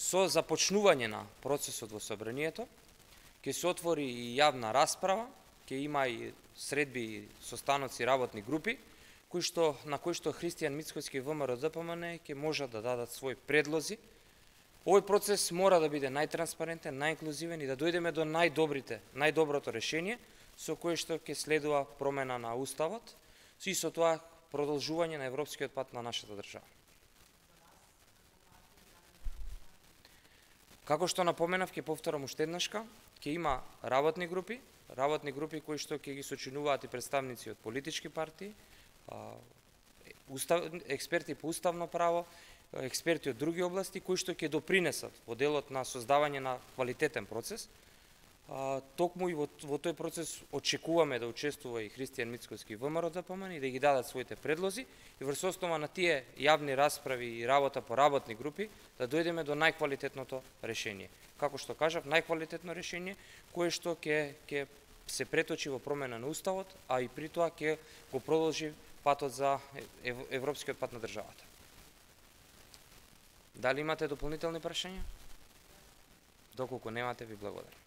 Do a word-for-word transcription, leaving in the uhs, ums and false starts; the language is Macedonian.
Со започнување на процесот во собранието, ќе се отвори и јавна расправа, ќе има и средби и состаноци работни групи, кои што, на кои што Христијан Мицкоски и ВМРО-ДПМН ќе можат да дадат своји предлози. Овој процес мора да биде најтранспарентен, најинклузивен и да дојдеме до најдобрите, најдоброто решение, со кое што ќе следува промена на Уставот и со тоа продолжување на европскиот пат на нашата држава. Како што напоменав, ќе повторам уште еднашка, ќе има работни групи, работни групи кои што ќе ги сочинуваат и представници од политички партии, устав, експерти по уставно право, експерти од други области кои што ќе допринесат во делот на создавање на квалитетен процес. А, токму и во, во тој процес очекуваме да учествува и Христијан Мицкоски и ВМРО-ДПМН и да ги дадат своите предлози и врз основа на тие јавни расправи и работа по работни групи да дојдеме до најквалитетното решение. Како што кажав, најквалитетно решение кое што ќе ќе се преточи во промена на Уставот, а и при тоа ќе го продолжи патот за европскиот пат на државата. Дали имате дополнителни прашања? Доколку немате, ви благодарам.